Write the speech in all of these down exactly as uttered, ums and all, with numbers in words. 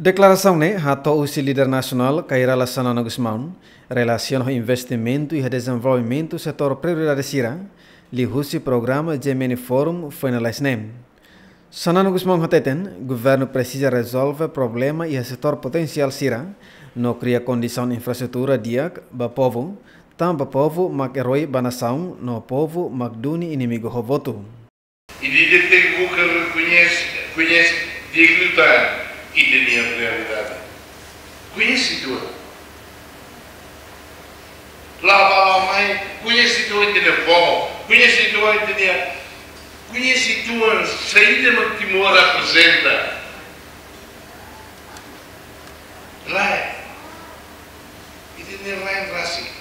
Deklarasaun ne'e hato'o husi líder nasionál Kay Rala Xanana Gusmão, relasiona ho investimentu iha dezenvolvimentu setór prioridade sira, liuhusi programa G M N Forum foin lalais ne'e. Xanana Gusmão hateten, governu presiza rezolve problema iha setór potensiál sira, no kria kondisaun infraestrutura di'ak ba povu, tanba povu mak eroi ba nasaun, no povu mak duni inimigu ho votu. Ita tenke buka rekoñese, rekoñese dignidade ita-nia realidade. Koñese ita-nia, la'o ba la'o mai, koñese ita-nia, ita-nia povu, koñese ita-nia, ita-nia, koñese ita-nia saida mak Timor reprezenta. Lae, ita-nia rain rasik.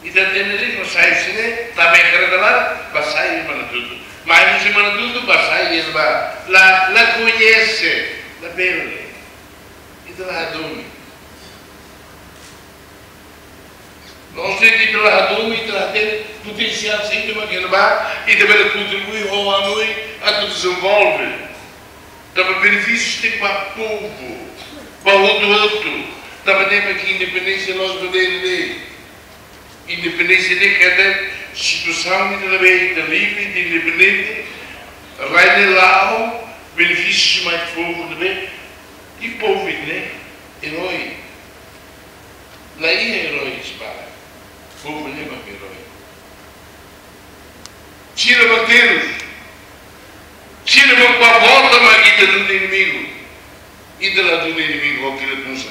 Ita tenke ri ko sai sini, tanba kareta laran, ba sai Manatutu. Mai husi Manatutu, ba sai iha ne'ebá. La, la koñese, la bele. Ita la hadomi. Loos de'it ita la hadomi, ita la hatene potensiál saida mak iha ne'ebá, ita bele kontribui ho hanoin atu dezenvolve. Tanba benefísiu tenke ba povu, ba hotu-hotu. Tanba ne'e mak independénsia loos ba dere de'it. Independénsia ne'e katak situasaun ita ne'ebé ita livre, ita independente, rai ne'e la'o, benefísiu mai povu ne'ebé, i povu ne'e eroi. La iha eroi, para povu ne'e mak eroi. Sira mak terus, sira mak ba vota mak ita duni inimigu. Ita la duni inimigu, oke, la tunsa.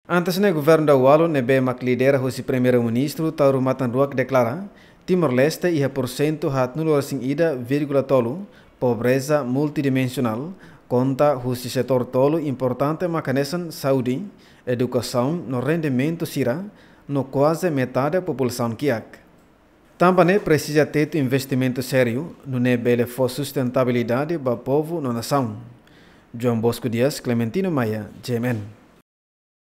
Antes ne'e governu daudaun ne'ebé mak lidera husi Primeiru-Ministru Taur Matan Ruak deklara, Timor-Leste iha porsentu haatnulu-resin-ida vírgula tolu pobreza multidimensionál, konta husi setór tolu importante mak hanesan saúde, edukasaun no rendimentu sira, no kuaze metade populasaun kiak. Tanba ne'e presiza tetu investimentu sériu, nune'e bele fó sustentabilidade ba povu no nasaun. João Bosco Dias, Clementino Maia, G M N.